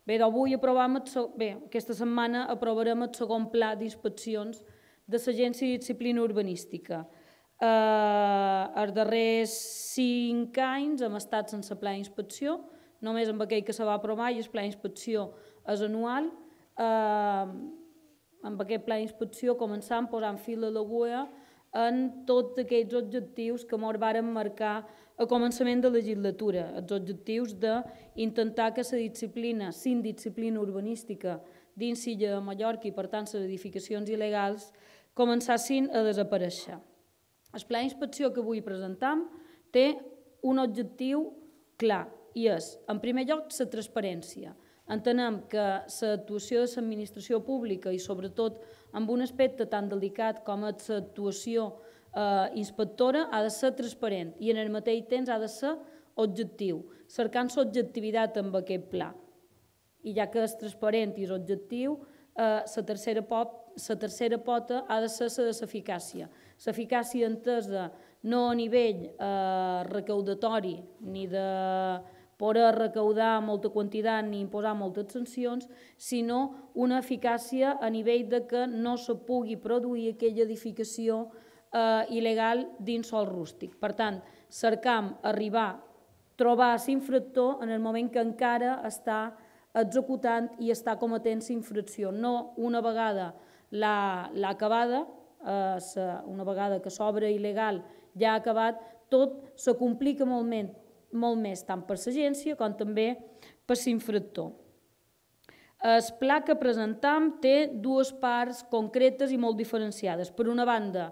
Bé, aquesta setmana aprovarem el segon pla d'inspeccions de l'Agència de Disciplina Urbanística. Els darrers 5 anys hem estat sense pla d'inspecció, només amb aquell que se va aprovar, i el pla d'inspecció és anual. Amb aquest pla d'inspecció començam posant fil a l'agulla en tots aquells objectius que ens varen marcar a començament de legislatura, els objectius d'intentar que la disciplina, sin disciplina urbanística dins l'illa de Mallorca i per tant les edificacions il·legals començassin a desaparèixer. El pla d'inspecció que avui presentam té un objectiu clar i és, en primer lloc, la transparència. Entenem que l'actuació de l'administració pública i sobretot amb un aspecte tan delicat com és l'actuació inspectora ha de ser transparent i en el mateix temps ha de ser objectiu, cercant l'objectivitat amb aquest pla. I ja que és transparent i és objectiu, la tercera pota ha de ser la de l'eficàcia. L'eficàcia entesa no a nivell recaudatori ni de poder recaudar molta quantitat ni imposar moltes sancions, sinó una eficàcia a nivell de que no se pugui produir aquella edificació il·legal dins sòl rústic. Per tant, cercam trobar l'infractor en el moment que encara està executant i està cometent l'infracció. No una vegada l'ha acabada, una vegada que l'obra il·legal ja ha acabat, tot se complica molt més tant per l'agència com també per l'infractor. El pla que presentam té dues parts concretes i molt diferenciades. Per una banda,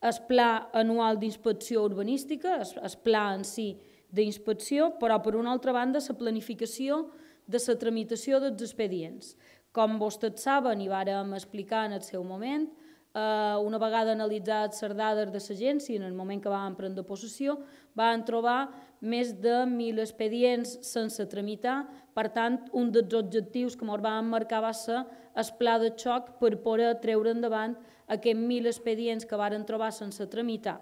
el pla anual d'inspecció urbanística, el pla en si d'inspecció, però per una altra banda la planificació de la tramitació dels expedients. Com vostès saben i vàrem explicar en el seu moment, una vegada analitzats les dades de l'agència, en el moment que vam prendre possessió, vam trobar més de 1.000 expedients sense tramitar. Per tant, un dels objectius que ens vam marcar va ser el pla de xoc per poder treure endavant aquests 1.000 expedients que varen trobar sense tramitar.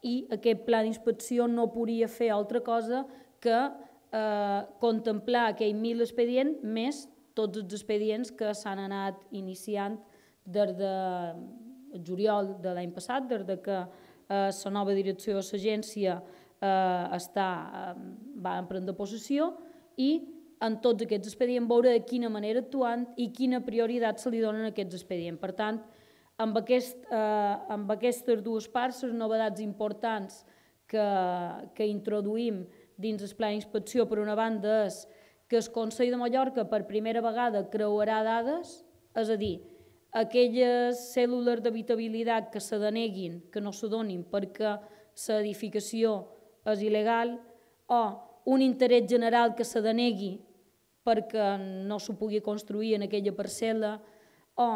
I aquest pla d'inspecció no podia fer altra cosa que contemplar aquells 1.000 expedients més tots els expedients que s'han anat iniciant des de juliol de l'any passat, des que la nova direcció de l'agència va prendre possessió, i en tots aquests expedients veure de quina manera actuant i quina prioritat se li donen a aquests expedients. Per tant, amb aquestes dues parts, les novetats importants que introduïm dins el pla d'inspecció, per una banda, és que el Consell de Mallorca per primera vegada creuarà dades, és a dir, aquelles cèl·lules d'habitabilitat que se deneguin, que no se donin perquè l'edificació és il·legal, o un interès general que se denegui perquè no s'ho pugui construir en aquella parcel·la, o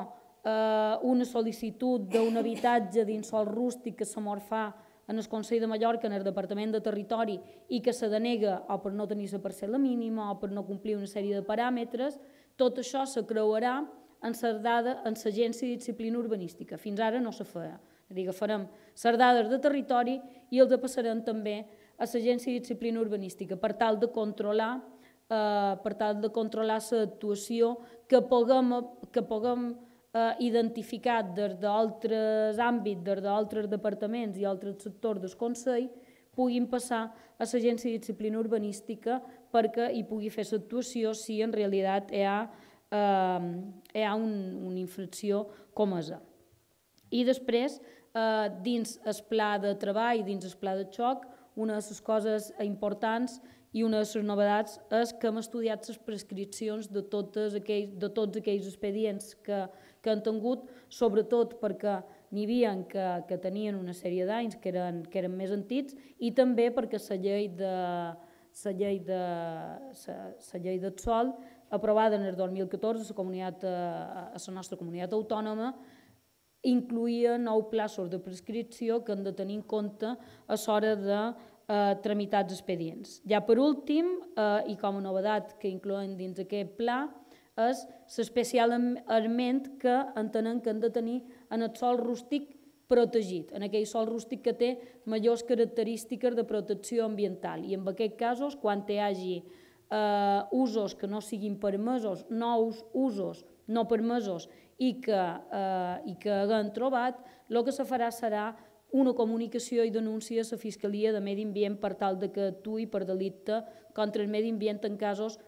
una sol·licitud d'un habitatge dins sòl rústic que se mos fa en el Consell de Mallorca, en el Departament de Territori, i que se denega o per no tenir la parcel·la mínima o per no complir una sèrie de paràmetres, tot això se creuarà en l'Agència de Disciplina Urbanística. Fins ara no se feia. És a dir, farem les dades de territori i els passarem també a l'Agència de Disciplina Urbanística per tal de controlar l'actuació que puguem identificat des d'altres àmbits, des d'altres departaments i altres sectors del Consell, puguin passar a l'Agència de Disciplina Urbanística perquè hi pugui fer l'actuació si en realitat hi ha una infracció com és. I després, dins el pla de treball, dins el pla de xoc, una de les coses importants i una de les novetats és que hem estudiat les prescripcions de tots aquells expedients que han tingut, sobretot perquè n'hi havia que tenien una sèrie d'anys, que eren més antics, i també perquè la llei del sòl, aprovada en el 2014 a la nostra comunitat autònoma, incloïa 9 plaços de prescripció que han de tenir en compte a l'hora de tramitar els expedients. Ja per últim, i com a novetat que incloem dins aquest pla, és l'especialment que entenem que han de tenir en el sòl rústic protegit, en aquell sòl rústic que té majors característiques de protecció ambiental. I en aquests casos, quan hi hagi usos que no siguin permesos, nous usos no permesos i que haguem trobat, el que se farà serà una comunicació i denúncia a la Fiscalia de Medi Ambient per tal que actuï per delicte contra el medi ambient en casos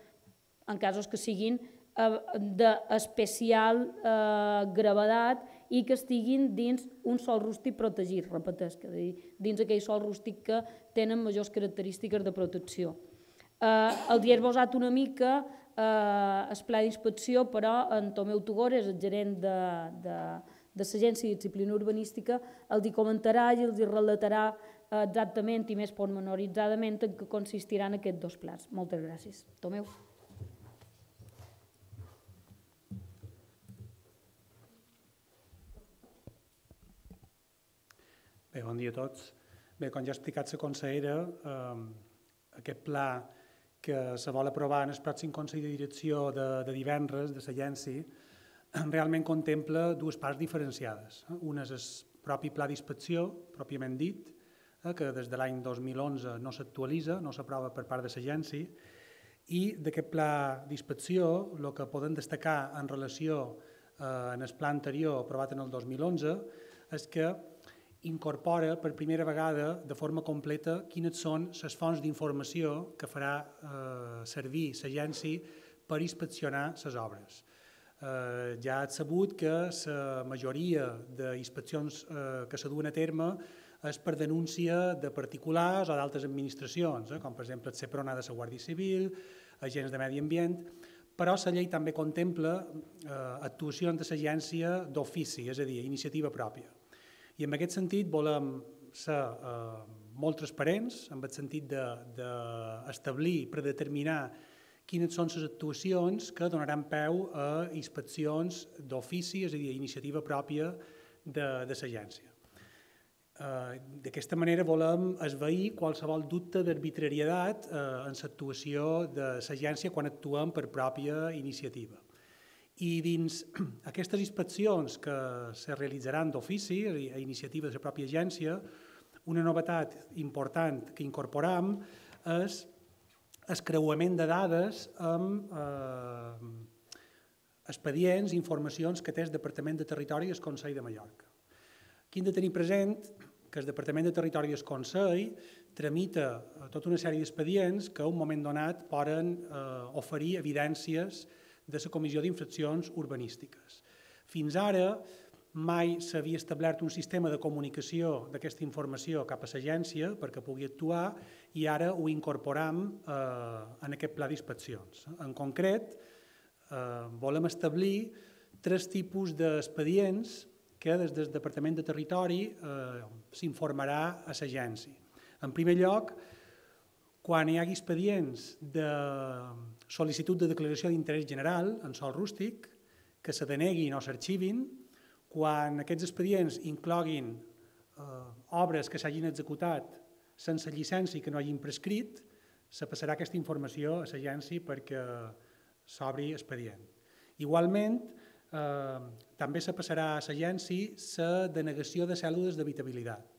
que siguin d'especial gravetat i que estiguin dins un sòl rústic protegit, repetesc, dins aquell sòl rústic que tenen majors característiques de protecció. El dia esbossat una mica el pla d'inspecció, però en Tomeu Tugores, el gerent de l'Agència de Disciplina Urbanística, els hi comentarà i els hi relatarà exactament i més pormenoritzadament en què consistiran aquests dos plans. Moltes gràcies. Tomeu. Bé, bon dia a tots. Bé, com ja ha explicat la consellera, aquest pla que se vol aprovar en el pròxim Consell de Direcció de divendres de l'agència realment contempla dues parts diferenciades. Una és el propi pla d'inspecció, pròpiament dit, que des de l'any 2011 no s'actualitza, no s'aprova per part de l'agència, i d'aquest pla d'inspecció el que podem destacar en relació amb el pla anterior aprovat en el 2011 és que incorpora per primera vegada de forma completa quines són les fonts d'informació que farà servir l'agència per inspeccionar les obres. Ja ha sabut que la majoria d'inspeccions que se duen a terme és per denúncia de particulars o d'altres administracions, com per exemple el CEPRONA de la Guàrdia Civil, agents de medi ambient, però la llei també contempla actuacions de l'agència d'ofici, és a dir, iniciativa pròpia. I en aquest sentit volem ser molt transparents, en el sentit d'establir, predeterminar quines són les actuacions que donaran peu a inspeccions d'ofici, és a dir, iniciativa pròpia de l'agència. D'aquesta manera volem esvair qualsevol dubte d'arbitrarietat en l'actuació de l'agència quan actuem per pròpia iniciativa. I dins aquestes inspeccions que se realitzaran d'ofici, a iniciativa de la pròpia agència, una novetat important que incorporam és el creuament de dades amb expedients i informacions que té el Departament de Territori i el Consell de Mallorca. Aquí hem de tenir present que el Departament de Territori i el Consell tramita tota una sèrie d'expedients que a un moment donat poden oferir evidències de la Comissió d'Infraccions Urbanístiques. Fins ara mai s'havia establert un sistema de comunicació d'aquesta informació cap a l'agència perquè pugui actuar i ara ho incorporam en aquest pla d'inspeccions. En concret, volem establir 3 tipus d'expedients que des del Departament de Territori s'informarà a l'agència. En primer lloc, quan hi hagi expedients de sol·licitud de declaració d'interès general en sòl rústic, que se deneguin o s'arxivin, quan aquests expedients incloguin obres que s'hagin executat sense llicència i que no hagin prescrit, se passarà aquesta informació a l'agència perquè s'obri expedient. Igualment, també se passarà a l'agència la denegació de cèdules d'habitabilitat.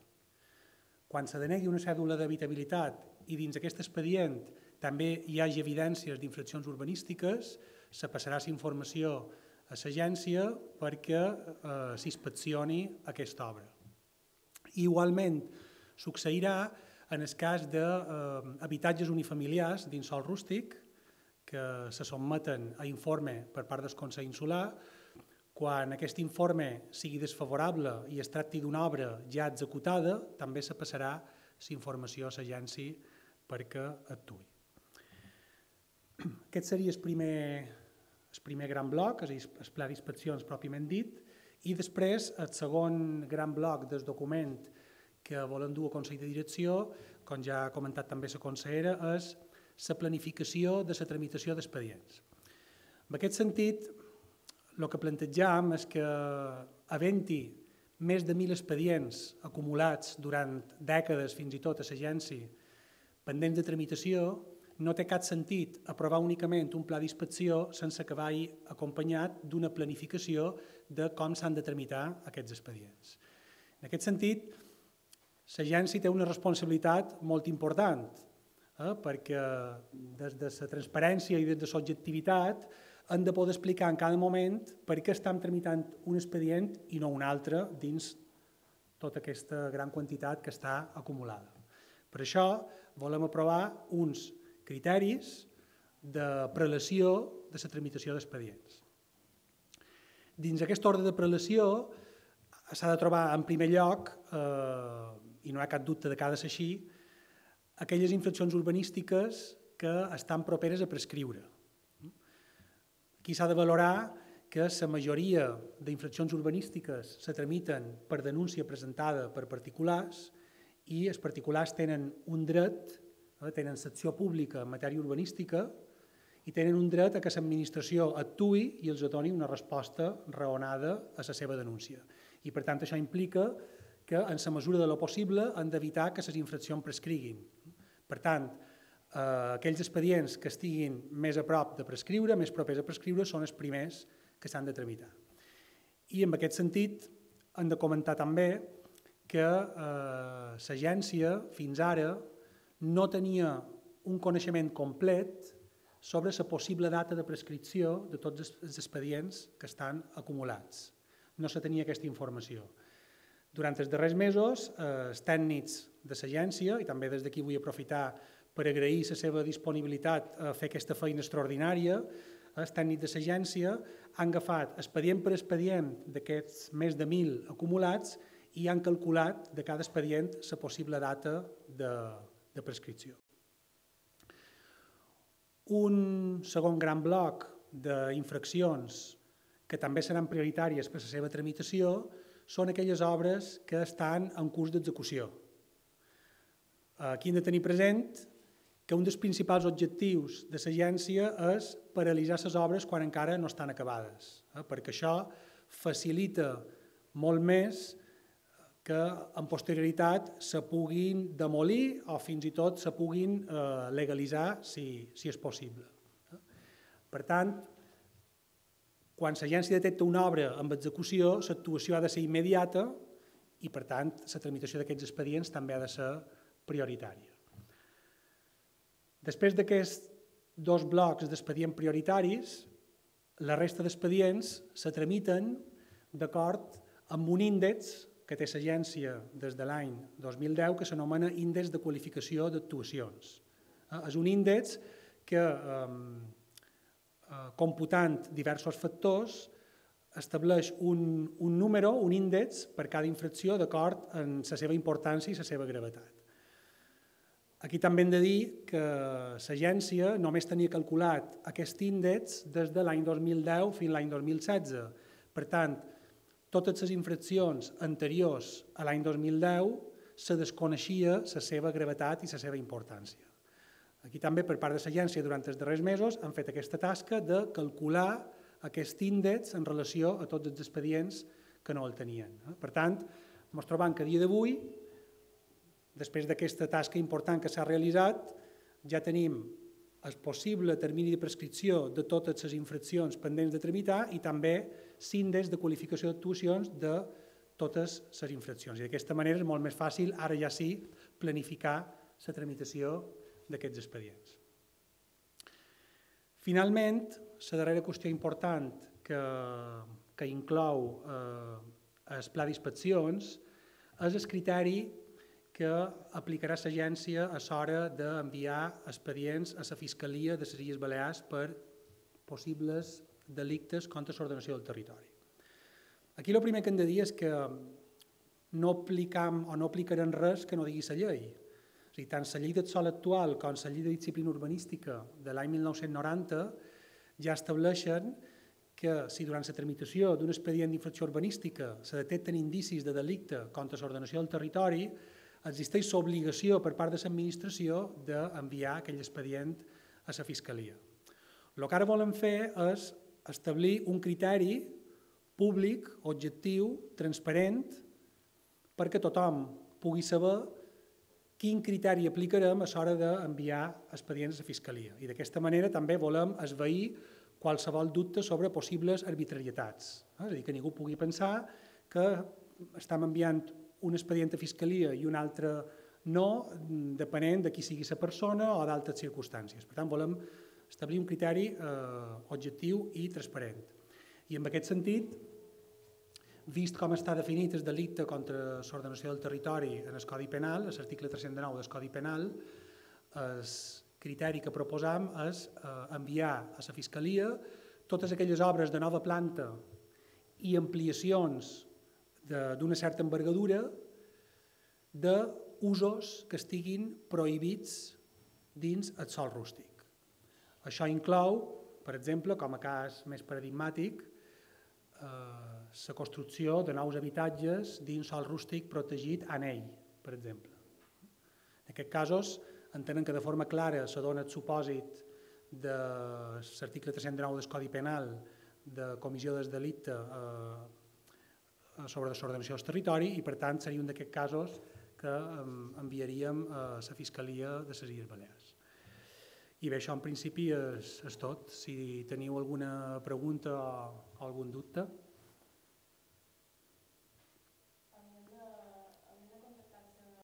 Quan se denegui una cèdula d'habitabilitat i dins aquest expedient també hi hagi evidències d'infraccions urbanístiques, se passarà la informació a l'agència perquè s'inspeccioni aquesta obra. Igualment, succeirà en el cas d'habitatges unifamiliars dins sòl rústic que se sotmeten a informe per part del Consell Insular. Quan aquest informe sigui desfavorable i es tracti d'una obra ja executada, també se passarà la informació a l'agència perquè actuï. Aquest seria el primer gran bloc, és a dir, el pla d'inspeccions pròpiament dit, i després el segon gran bloc del document que volem dur al Consell de Direcció, com ja ha comentat també la consellera, és la planificació de la tramitació d'expedients. En aquest sentit, el que plantejam és que, havent-hi més de 1.000 expedients acumulats durant dècades fins i tot a l'agència pendents de tramitació, no té cap sentit aprovar únicament un pla d'inspecció sense que vagi acompanyat d'una planificació de com s'han de tramitar aquests expedients. En aquest sentit, l'agència té una responsabilitat molt important. perquè des de la transparència i des de l'objectivitat hem de poder explicar en cada moment per què estem tramitant un expedient i no un altre dins tota aquesta gran quantitat que està acumulada. Per això volem aprovar uns criteris de prelació de la tramitació d'expedients. Dins aquest ordre de prelació s'ha de trobar en primer lloc, i no hi ha cap dubte de que ha de ser així, aquelles infraccions urbanístiques que estan properes a prescriure. Aquí s'ha de valorar que la majoria d'infraccions urbanístiques se tramiten per denúncia presentada per particulars i els particulars tenen un dret, tenen secció pública en matèria urbanística i tenen un dret a que l'administració actuï i els doni una resposta raonada a la seva denúncia. I per tant això implica que en la mesura de lo possible han d'evitar que les infraccions prescriguin. Per tant, aquells expedients que estiguin més a prop de prescriure, més propers a prescriure, són els primers que s'han de tramitar. I en aquest sentit hem de comentar també que l'agència fins ara no tenia un coneixement complet sobre la possible data de prescripció de tots els expedients que estan acumulats. No se tenia aquesta informació. Durant els darrers mesos, els tècnics de l'agència, i també des d'aquí vull aprofitar per agrair la seva disponibilitat a fer aquesta feina extraordinària, els tècnics de l'agència han agafat expedient per expedient d'aquests més de 1.000 acumulats i han calculat de cada expedient la possible data de prescripció. Un segon gran bloc d'infraccions que també seran prioritàries per a la seva tramitació són aquelles obres que estan en curs d'execució. Aquí hem de tenir present que un dels principals objectius de l'agència és paralitzar les obres quan encara no estan acabades, perquè això facilita molt més que en posterioritat se puguin demolir o fins i tot se puguin legalitzar si és possible. Per tant, quan l'agència detecta una obra amb execució, l'actuació ha de ser immediata i, per tant, la tramitació d'aquests expedients també ha de ser prioritària. Després d'aquests dos blocs d'expedients prioritaris, la resta d'expedients se tramiten d'acord amb un índex que té l'agència des de l'any 2010 que s'anomena Índex de Qualificació d'Actuacions. És un índex que, computant diversos factors, estableix un número, un índex per cada infracció d'acord amb la seva importància i la seva gravetat. Aquí també hem de dir que l'agència només tenia calculat aquest índex des de l'any 2010 fins a l'any 2016. Per tant, totes les infraccions anteriors a l'any 2010 se desconeixia la seva gravetat i la seva importància. Aquí també, per part de l'agència, durant els darrers mesos, han fet aquesta tasca de calcular aquest índex en relació a tots els expedients que no el tenien. Per tant, ens trobem que a dia d'avui, després d'aquesta tasca important que s'ha realitzat, ja tenim el possible termini de prescripció de totes les infraccions pendents de tramitar i també l'índex de qualificació d'actuacions de totes les infraccions. I d'aquesta manera és molt més fàcil, ara ja sí, planificar la tramitació d'aquests expedients. Finalment, la darrera qüestió important que inclou el pla d'inspeccions és el criteri que aplicarà l'agència a l'hora d'enviar expedients a la Fiscalia de les Illes Balears per possibles delictes contra l'ordenació del territori. Aquí el primer que hem de dir és que no aplicam o no aplicarem res que no digui la llei. És a dir, tant la llei del sòl actual com la llei de disciplina urbanística de l'any 1990 ja estableixen que si durant la tramitació d'un expedient d'infracció urbanística se detecten indicis de delicte contra l'ordenació del territori, existeix l'obligació per part de l'administració d'enviar aquell expedient a la Fiscalia. El que ara volem fer és establir un criteri públic, objectiu, transparent, perquè tothom pugui saber quin criteri aplicarem a l'hora d'enviar expedients a la Fiscalia. I d'aquesta manera també volem esvair qualsevol dubte sobre possibles arbitrarietats. És a dir, que ningú pugui pensar que estem enviant un expedient a Fiscalia i un altre no depenent de qui sigui la persona o d'altres circumstàncies. Per tant, volem establir un criteri objectiu i transparent. I en aquest sentit, vist com està definit el delicte contra l'ordenació del territori en el Codi Penal, a l'article 309 del Codi Penal, el criteri que proposam és enviar a la Fiscalia totes aquelles obres de nova planta i ampliacions d'una certa envergadura d'usos que estiguin prohibits dins el sòl rústic. Això inclou, per exemple, com a cas més paradigmàtic, la construcció de nous habitatges dins sòl rústic protegit en ell, per exemple. En aquests casos, entenen que de forma clara se dona el supòsit de l'article 309 del Codi Penal de comissió del delicte sobre desordenació del territori i, per tant, seria un d'aquests casos que enviaríem a la Fiscalia de les Illes Balears. I bé, això en principi és tot. Si teniu alguna pregunta o algun dubte.